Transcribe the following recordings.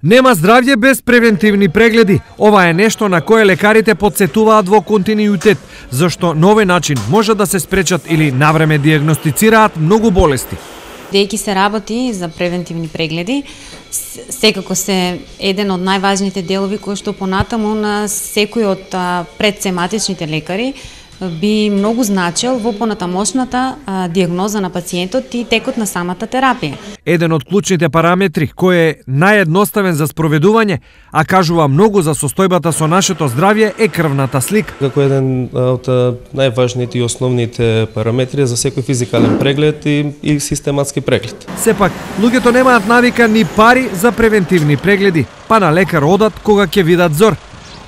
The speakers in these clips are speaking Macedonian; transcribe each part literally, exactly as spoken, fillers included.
Нема здравје без превентивни прегледи. Ова е нешто на кое лекарите подсетуваат во континуитет, зашто на овој начин може да се спречат или навреме дијагностицираат многу болести. Дејќи се работи за превентивни прегледи, секако се еден од најважните делови кои што понатаму на секој од предсематичните лекари би многу значил во понатамошната дијагноза на пациентот и текот на самата терапија. Еден од клучните параметри кој е наједноставен за спроведување, а кажува многу за состојбата со нашето здравје, е крвната слика. Како еден од најважните и основните параметри за секој физикален преглед и, и систематски преглед. Сепак, луѓето немаат навика ни пари за превентивни прегледи, па на лекар одат кога ќе видат зор.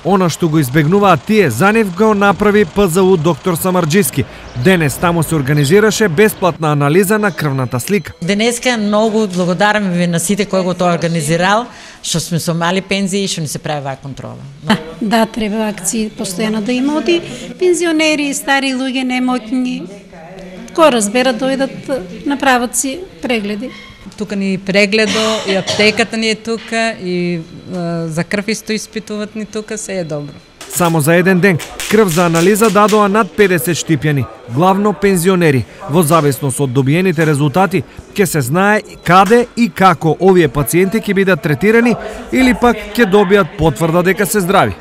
Она што го избегнуваат тие, за нив го направи П З У доктор Самарџиски. Денес таму се организираше бесплатна анализа на крвната слика. Денеска многу благодарам ви на сите кои го тоа организирал, што сме со мали пензии и што ни се прави ваа контрола. Да, да, треба акции постојано да има оди пензионери, стари луѓе, немотни. Кој разбера дојдат направат си прегледи. Тука ни прегледо и аптеката ни е тука и е, за крв исто испитуваат ни тука, се е добро. Само за еден ден крв за анализа дадоа над педесет штипјани, главно пензионери. Во зависност од добиените резултати, ќе се знае каде и како овие пациенти ќе бидат третирани или пак ќе добијат потврда дека се здрави.